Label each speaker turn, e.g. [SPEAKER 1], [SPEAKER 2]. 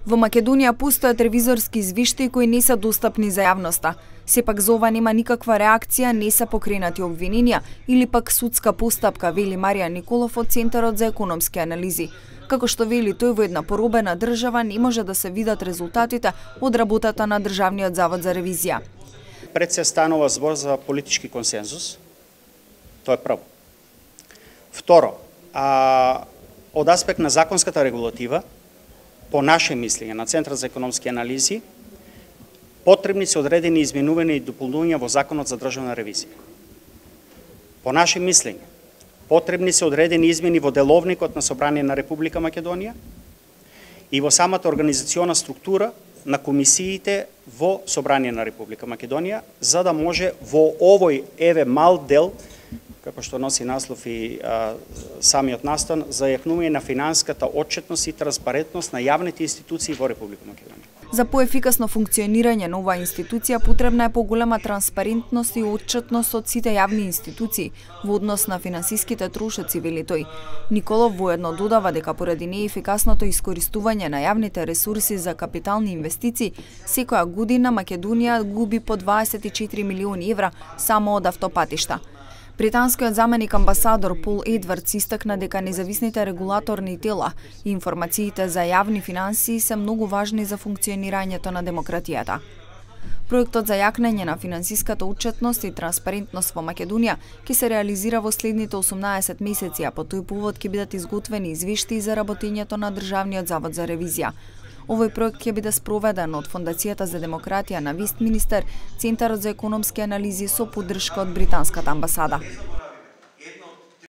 [SPEAKER 1] Во Македонија постојат ревизорски извештаи кои не се достапни за јавноста. Сепак за ова нема никаква реакција, не се покренати обвиненија или пак судска постапка, вели Маријан Николов од Центарот за економски анализи. Како што вели тој, во една поробена држава не може да се видат резултатите од работата на Државниот завод за ревизија.
[SPEAKER 2] Пред се станува збор за политички консензус. Тоа е прво. Второ, од аспект на законската регулатива, по наше мислење на Центар за економски анализи, потребни се одредени изменувања и дополнувања во Законот за државна ревизија. По наше мислење, потребни се одредени измени во Деловникот на Собрание на Република Македонија и во самата организациона структура на комисиите во Собрание на Република Македонија, за да може во овој мал дел, како што носи наслов и самиот настан, за јакнување на финансиската отчетност и транспарентност на јавните институции во Република Македонија.
[SPEAKER 1] За поефикасно функционирање на оваа институција потребна е поголема транспарентност и отчетност од сите јавни институции во однос на финансиските трошоци, вели тој. Николов воедно додава дека поради неефикасното искористување на јавните ресурси за капитални инвестиции, секоја година Македонија губи по 24 милиони евра само од автопатишта. Британскиот заменик амбасадор Пол Едвардс истакна дека независните регулаторни тела и информациите за јавни финансии се многу важни за функционирањето на демократијата. Проектот за јакнење на финансиската отчетност и транспарентност во Македонија ќе се реализира во следните 18 месеци, а по тој повод ќе бидат изготвени извештаи за работењето на Државниот завод за ревизија. Овој проект ќе биде спроведен од Фондацијата за демократија на Вестминистер, Центарот за економски анализи со поддршка од британската амбасада.